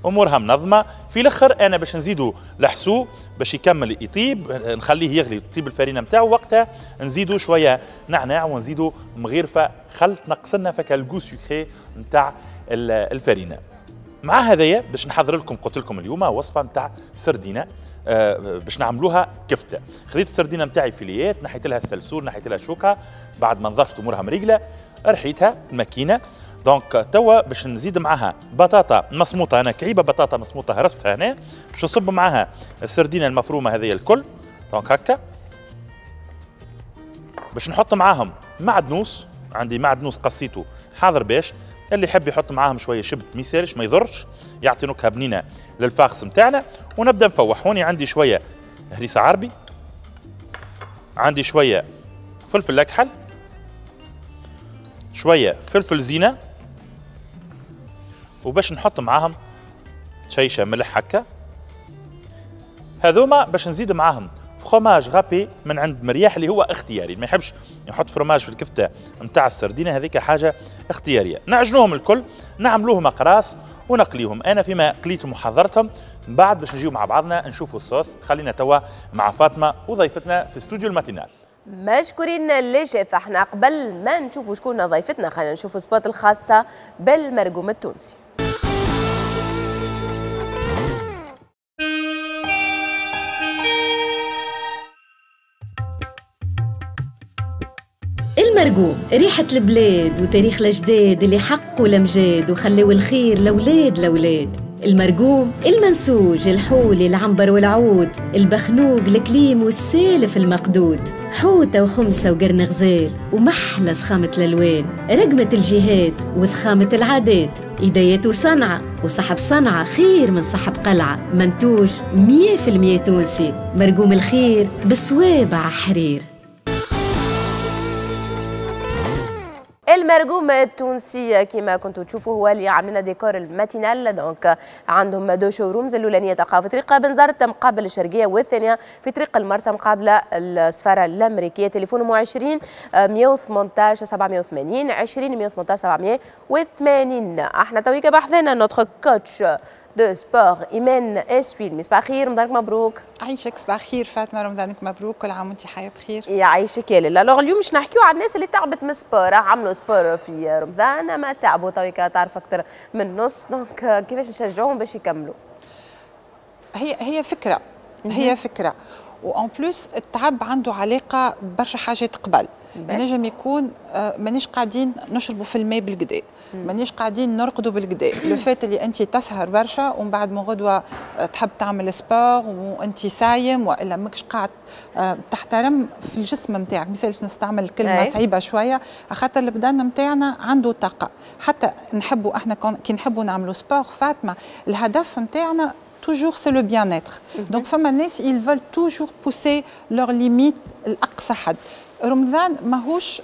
امورها منظمة. في الاخر انا باش نزيدو الحسو باش يكمل يطيب، نخليه يغلي تطيب الفرينة نتاعو، وقتها نزيدو شوية نعناع ونزيدو مغيرفه خل تنقص لنا فك ال goût sucré نتاع الفرينة. مع هذايا باش نحضر لكم قلت لكم اليوم وصفه نتاع سردينه آه باش نعملوها كفته. خذيت السردينه نتاعي فيليات، نحيت لها السلسول، نحيت لها الشوكة، بعد ما نظفت امورها مريقله رحيتها في الماكينة. donc توا باش نزيد معاها بطاطا مصموطه، انا كعيبه بطاطا مصموطه هرستها هنا، باش نصب معاها السردينه المفرومه هذه الكل. donc هكا باش نحط معاهم معدنوس، عندي معدنوس قصيته حاضر باش اللي يحب يحط معاهم شوية شبت ما يسالش ما يضرش، يعطي نكهة بنينه لل farce نتاعنا. ونبدا نفوح. هوني عندي شوية هريسه عربي، عندي شوية فلفل اكحل، شوية فلفل زينة، وباش نحط معاهم شيشة ملح هكا. هذوما باش نزيد معاهم fromage râpé من عند مرياح اللي هو اختياري، ما يحبش يحط فروماج في الكفتة نتاع السردينه، هذيك حاجة اختيارية. نعجنوهم الكل، نعملوهم اقراص ونقليهم. انا فيما قليتهم وحضرتهم من بعد باش نجيو مع بعضنا نشوفوا الصوص. خلينا توا مع فاطمة وضيفتنا في استوديو ال matinale. مشكورين les chefs. احنا قبل ما نشوفوا شكون ضيفتنا خلينا نشوفوا spot الخاصة بالمرقوم التونسي. المرقوم ريحة البلاد وتاريخ الأجداد اللي حقوا الأمجاد وخلوا الخير لأولاد لأولاد. المرقوم المنسوج الحولي العنبر والعود، البخنوق الكليم والسالف المقدود، حوتة وخمسة وقرن غزال ومحلى ضخامة الألوان، رقمة الجهاد وضخامة العادات، إيدايات وصنعة وصاحب صنعة خير من صاحب قلعة، منتوج مية في المية تونسي، مرقوم الخير بصوابع حرير. المرقوم التونسي كما كنتوا تشوفوا هو اللي عاملنا ديكور ال matinale. donc عندهم deux showrooms، الاولانية تلقاو في طريق بنزرت مقابل الشرقية، والثانية في طريق المرسى مقابله السفارة الامريكية. تليفونهم عشرين مية وثمنطاش سبعمية وثمانين عشرين مية وثمنطاش سبعمية وثمانين. احنا تويكا بحثنا notre coach de sport ايمان اسويل. صباح الخير، رمضانك مبروك. عايشك صباح الخير فاطمة، رمضانك مبروك، كل عام وانت حيه بخير. يعيشك يا لاله. alors اليوم باش نحكيو على الناس اللي تعبت من ال sport، عملوا sport في رمضان ما تعبوا، تويكا تعرف اكثر من نص، donc كيفاش نشجعوهم باش يكملوا؟ هي هي فكرة، هي فكرة، و en plus التعب عنده علاقة برشا حاجات قبل. ينجم يكون مانيش قاعدين نشربوا في الماء بالقدا، مانيش قاعدين نرقدوا بالقدا، le fait اللي انت تسهر برشا ومن بعد من غدوه تحب تعمل sport وانت صايم والا ماكش قاعد تحترم في الجسم نتاعك، ما نستعمل كلمة صعيبة شوية خاطر البدن نتاعنا عنده طاقة، حتى نحبوا احنا كي نحبوا نعملوا sport فاطمة الهدف نتاعنا toujours c'est le bien-être. Donc فما الناس ils veulent toujours pousser leurs limites لأقصى حد. رمضان ماهوش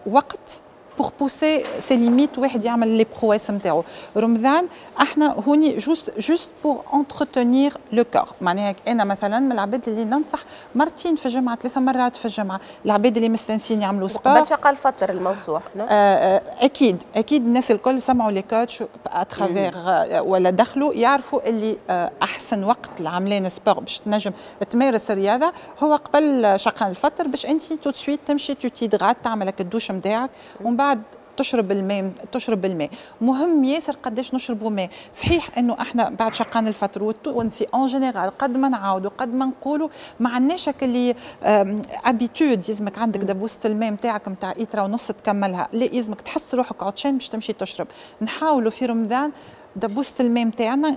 وقت pour pousser ses limites واحد يعمل les prouesses نتاعو. رمضان احنا هوني juste juste pour entretenir le corps. معناها انا مثلا من العباد اللي ننصح مرتين في الجمعة، ثلاثة مرات في الجمعة، العباد اللي مستانسين يعملوا sport. قبل شقال الفطر المنصوح. آه اكيد اكيد الناس الكل سمعوا les coachs à travers ولا دخلوا يعرفوا اللي احسن وقت لعملان sport باش تنجم تمارس الرياضة هو قبل شقان الفطر، باش انت tout de suite تمشي tu t'hydrates تعمل لك الدوش نتاعك ومن بعد تشرب الماء. تشرب الماء مهم ياسر قداش نشربوا ماء. صحيح انه احنا بعد شقان الفطر والتونسي en général قد ما نعاودوا قد ما نقولوا ما عندناش اللي habitude يلزمك عندك دبوسه الماء نتاعك نتاع ايترا ونص تكملها، لا يلزمك تحس روحك عطشان باش تمشي تشرب. نحاولوا في رمضان دبوسه الماء نتاعنا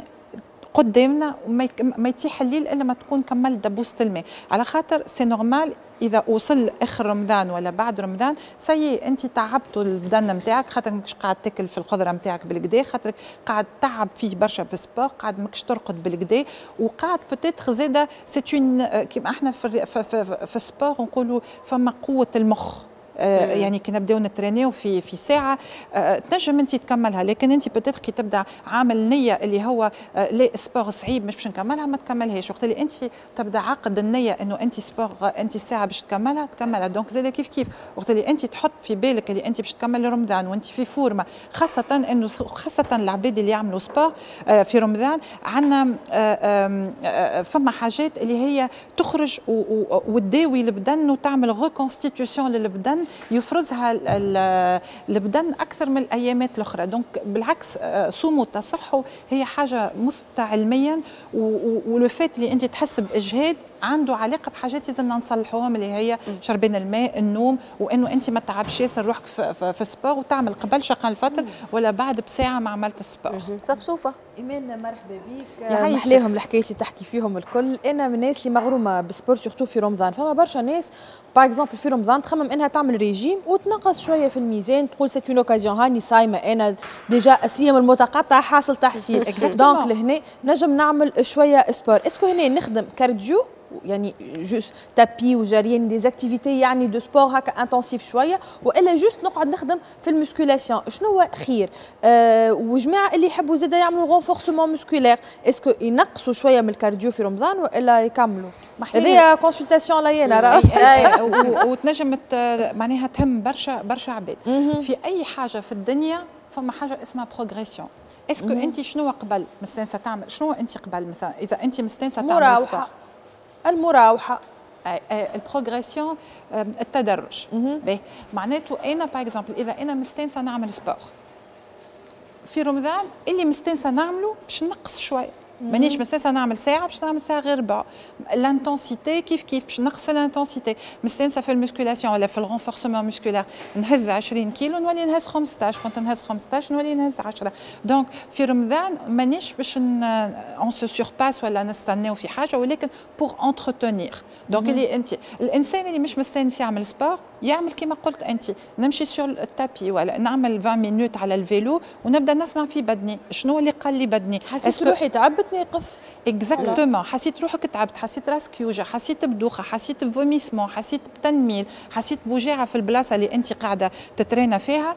قدامنا، وما ما يتيح الليل الا ما تكون كملت دبوسه الماء، على خاطر c'est normal اذا وصل اخر رمضان ولا بعد رمضان ça y est انت تعبتوا البدن نتاعك، خاطر ماكش قاعد تاكل في الخضرة نتاعك بالقدا، خاطر قاعد تعب فيه برشا في ال sport، قاعد ماكش ترقد بالقدا، وقاعد peut-être زاده c'est une كيما احنا في في, في, في ال sport نقولوا فما قوة المخ، آه يعني كي نبداو نترينيو في في ساعة آه تنجم انت تكملها، لكن انت peut-être كي تبدا عامل نيه اللي هو آه لا sport صعيب مش باش نكملها، ما تكملهاش. وقت اللي انت تبدا عاقد النية انه انت sport انت الساعة باش تكملها تكملها. donc زاد كيف كيف وقت اللي انت تحط في بالك اللي انت باش تكمل رمضان وانت في forme، خاصة انه خاصة العباد اللي يعملوا sport آه في رمضان عندنا آه آه فما حاجات اللي هي تخرج وتداوي البدن وتعمل reconstitution للبدن، يفرزها البدن اكثر من الايامات الاخرى. donc بالعكس صوموا تصحوا هي حاجة مثبتة علميا، و le fait اللي انت تحس باجهاد عنده علاقة بحاجات لازمنا نصلحوهم اللي هي شربان الماء، النوم، وانه انت ما تعبش ياسر روحك في, في, في ال sport وتعمل قبل شقان الفطر ولا بعد بساعة ما عملت ال sport. صفصوفه. ايمان مرحبا بك، محلاهم الحكايات اللي تحكي فيهم الكل. انا من الناس اللي مغرومه بال sport surtout في رمضان. فما برشا ناس par exemple في رمضان تخمم انها تعمل ريجيم وتنقص شوية في الميزان، تقول c'est une occasion، هاني صايمه انا déjà الصيام المتقطع حاصل تحصيل، donc لهنا نجم نعمل شوية sport. est-ce que هنا نخدم cardio يعني juste tapis وجريان des activités يعني de sport هكا intensif شويه، والا juste نقعد نخدم في ال musculation؟ شنو هو خير؟ أه وجماعه اللي يحبوا زاده يعملوا renforcement musculaire، est-ce que ينقصوا شوية من ال cardio في رمضان والا يكملوا؟ هذه consultation لينا. وتنجم معناها تهم برشا برشا عباد. في اي حاجة في الدنيا فما حاجة اسمها progression. est-ce que انت شنو قبل مستانسه تعمل؟ شنو انت قبل مثلا اذا انت مستانسه تعمل مراوحه، المراوحه، ال progression، التدرج. باهي، معناته انا par exemple اذا انا مستانسه نعمل sport في رمضان، اللي مستانسه نعمله باش نقص شويه، مانيش مستانسه نعمل ساعة باش نعمل ساعة غير ربع. l'intensité كيف كيف، باش نقص في l'intensité. مستانسه في ال musculation ولا في ال renforcement musculaire نهز عشرين كيلو نولي نهز خمسطاش، كنت نهز خمسطاش نولي نهز عشرة. donc في رمضان مانيش باش on se surpasse ولا نستناو في حاجه، ولكن pour entretenir. donc اللي انت الانسان اللي مش مستانس يعمل sport يعمل كما قلت انت، نمشي sur ال tapis ولا نعمل عشرين minutes على ال vélo ونبدا نسمع في بدني شنو اللي قال لي بدني. حسيت روحي تعبت نقف. exactement، حسيت روحك تعبت، حسيت راسك يوجع، حسيت بدوخه، حسيت ب vomissement، حسيت بتنميل، حسيت بوجاعه في البلاصة اللي انت قاعدة تترينا فيها،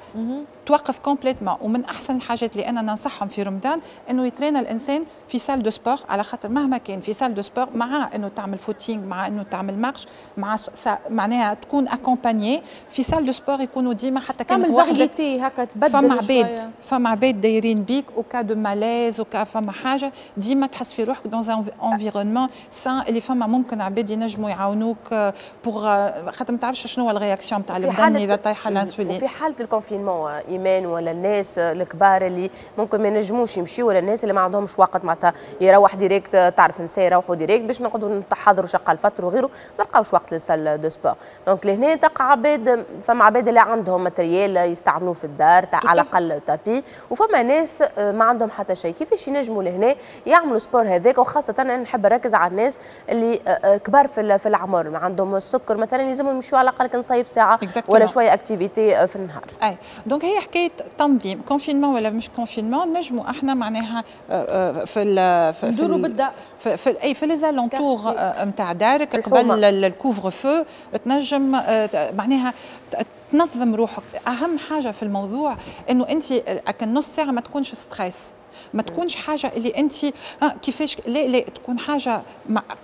توقف complètement. ومن احسن الحاجات اللي انا ننصحهم في رمضان انه يترينا الانسان في salle de sport، على خاطر مهما كان في salle de sport مع انه تعمل footing، مع انه تعمل marche، مع معناها تكون accompagné في salle de sport، يكونوا ديما حتى كان تعمل variété هكا تبدل. فما عباد فما عباد دايرين بيك au cas de malaise، au cas فما حاجه، ديما تحس في روحك dans un environnement sain اللي فما ممكن عباد ينجموا يعاونوك pour خاطر ما تعرفش شنو هو ال réaction تاع البدن اذا طايحة الانسولين. وفي حاله ال confinement ايمان، ولا الناس الكبار اللي ممكن ما ينجموش يمشيوا، ولا الناس اللي ما عندهمش وقت معناتها يروح direct، تعرف نساء يروحوا direct باش نقعدوا نتحضروا شقه الفطر وغيره، ما لقاوش وقت لل salle de sport. donc لهنا تلقى عباد، فما عباد اللي عندهم matériel يستعملوه في الدار تاع على الاقل tapis، وفما ناس ما عندهم حتى شيء. كيفاش ينجموا لهنا يعملوا sport هذاك؟ وخاصة انا نحب نركز على الناس اللي كبار في في العمر، ما عندهم السكر مثلا، يلزمهم يمشوا على الاقل نصيف ساعة ولا شوية activité في النهار. اي donc هي حكاية تنظيم، confinement ولا مش confinement، نجموا احنا معناها في ال في ندوروا بالدار في, في اي في les alentours نتاع دارك قبل ال couvre-feu تنجم معناها تنظم روحك. اهم حاجة في الموضوع انه انت نص ساعة ما تكونش stress، ما تكونش حاجة اللي انت آه كيفاش، لا لا، تكون حاجة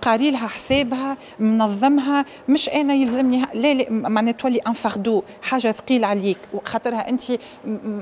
قاري لها حسابها، منظمها، مش انا يلزمني، لا لا، معناها تولي un fardeau، حاجة ثقيلة عليك وخاطرها انت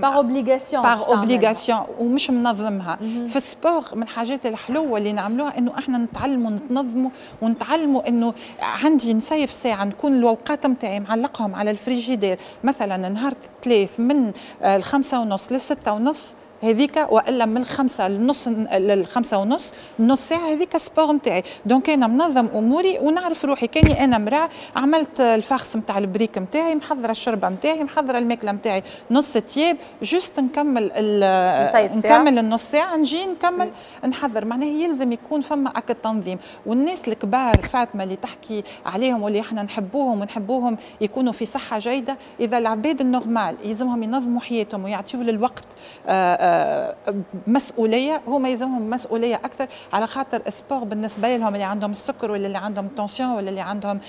par obligation. par obligation ومش منظمها. في ال sport من الحاجات الحلوة اللي نعملوها انه احنا نتعلموا نتنظموا ونتعلموا انه عندي نصيف ساعه، نكون الاوقات نتاعي معلقهم على الفريجيدير، مثلا نهار الثلاث من الخمسة ونص للستة ونص هذيك، والا من الخمسة للنص، للخمسة ونص نص ساعة هذيك sport نتاعي. donc انا منظم اموري ونعرف روحي. كاني انا مراة عملت ال farce نتاع البريك نتاعي، محضرة الشربه نتاعي، محضرة الماكلة نتاعي، نص تياب juste نكمل نكمل النص ساعة نجي نكمل نحضر. معناها يلزم يكون فما اك التنظيم. والناس الكبار فاطمة اللي تحكي عليهم واللي احنا نحبوهم ونحبوهم يكونوا في صحة جيدة، اذا العباد ال normal يلزمهم ينظموا حياتهم ويعطيوا للوقت مسؤولية، هما يلزمهم مسؤولية اكثر، على خاطر ال sport بالنسبة لهم اللي عندهم السكر ولا اللي عندهم tension ولا اللي عندهم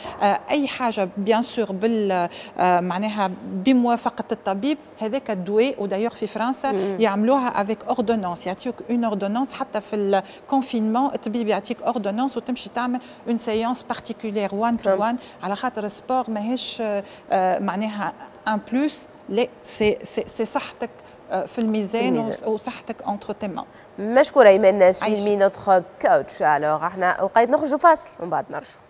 اي حاجة، bien sûr بال معناها بموافقة الطبيب، هذاك الدواء. و d'ailleurs في فرنسا يعملوها avec ordonnance، يعطيوك une ordonnance حتى في ال confinement الطبيب يعطيك ordonnance وتمشي تعمل une séance particulière واحد to واحد، على خاطر ال sport ماهيش معناها un plus، لا c'est c'est صحتك في الميزان وصحتك entre tes mains. مشكورة ايمان سليمي notre coach. alors احنا وقيت نخرجوا فاصل ومن بعد نرجعوا.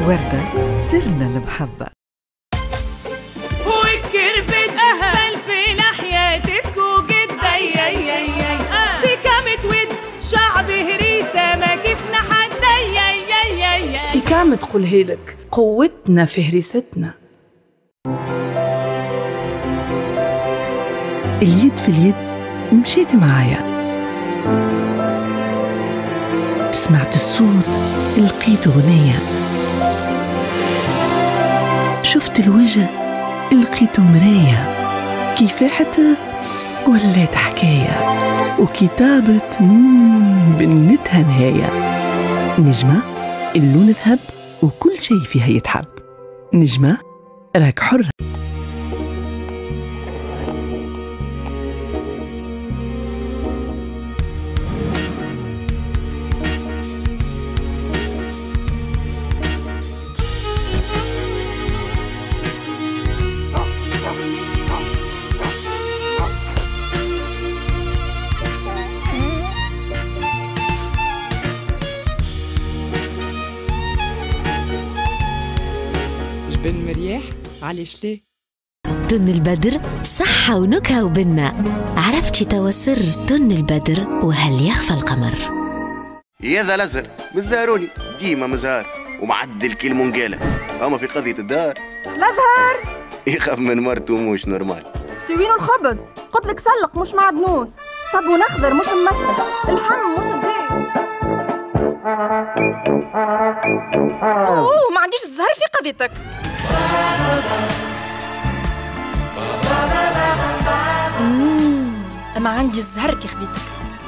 وردة سرنا المحبة. والكربت فلفل حياتك وجد اي اي اي سيكا متود شعب هريسة ما كيفنا حد اي اي اي. سيكا تقولها لك قوتنا في هريستنا. اليد في اليد مشيت معايا، سمعت الصوت لقيت غنية، شفت الوجه لقيته مراية، كفاحة ولات حكاية، وكتابة بنتها نهاية. نجمة اللون ذهب وكل شيء فيها يتحب. نجمة راك حرة. بن مرياح علاش ليه؟ تن البدر صحة ونكهة وبنة، عرفتي توا سر تن البدر وهل يخفى القمر. يا ذا الأزهر مزهروني ديما مزهر ومعدل كي المونجالة، أما في قضية الدار الأزهر يخاف من مرته مش normal. توينو الخبز قلت لك سلق مش معدنوس، صابون أخضر مش ممسك، الحم مش دجاج. أوه ما عنديش الزهر في قضيتك. ما عندي الزهر كي خديتك.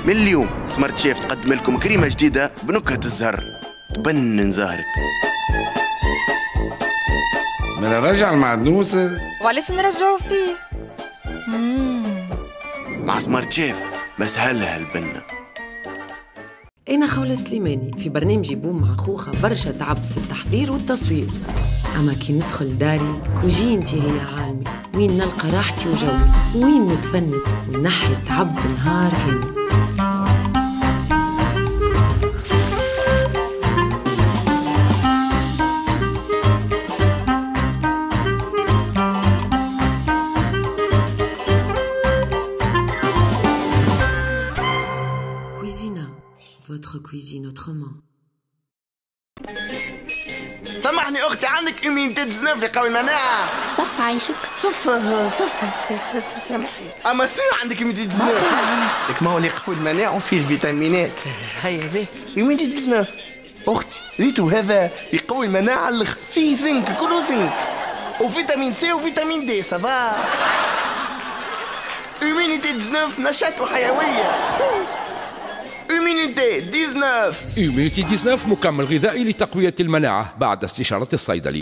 من اليوم سمارت شيف تقدم لكم كريمة جديدة بنكهة الزهر تبنن زهرك. من رجع المعدنوس وعلاش نرجعو فيه؟ مم. مع سمارت شيف مسهلها البنة. أنا خولة سليماني في برنامجي بوم مع خوخة برشا تعب في التحضير والتصوير، أما كي ندخل داري كوجينتي هي عالمي، وين نلقى راحتي وجوي، وين نتفند ونحي تعب نهار كامل. Cuisina, votre cuisine autrement. سامحني اختي، عندك immunité تسعة عشر قوي المناعة؟ صف عايشك. صف صف صف سامحني، اما sûr عندك immunité تسعة عشر. لك ما هو اللي قوي المناعة وفيه الفيتامينات. هيا به immunité تسعة عشر اختي، ريتو هذا يقوي المناعة الاخ، فيه زنك، كله زنك وفيتامين C وفيتامين D. ça va Immunité تسعطاش نشاط وحيوية. Immunité تسعطاش. Immunité تسعطاش مكمل غذائي لتقوية المناعة بعد استشارة الصيدلي.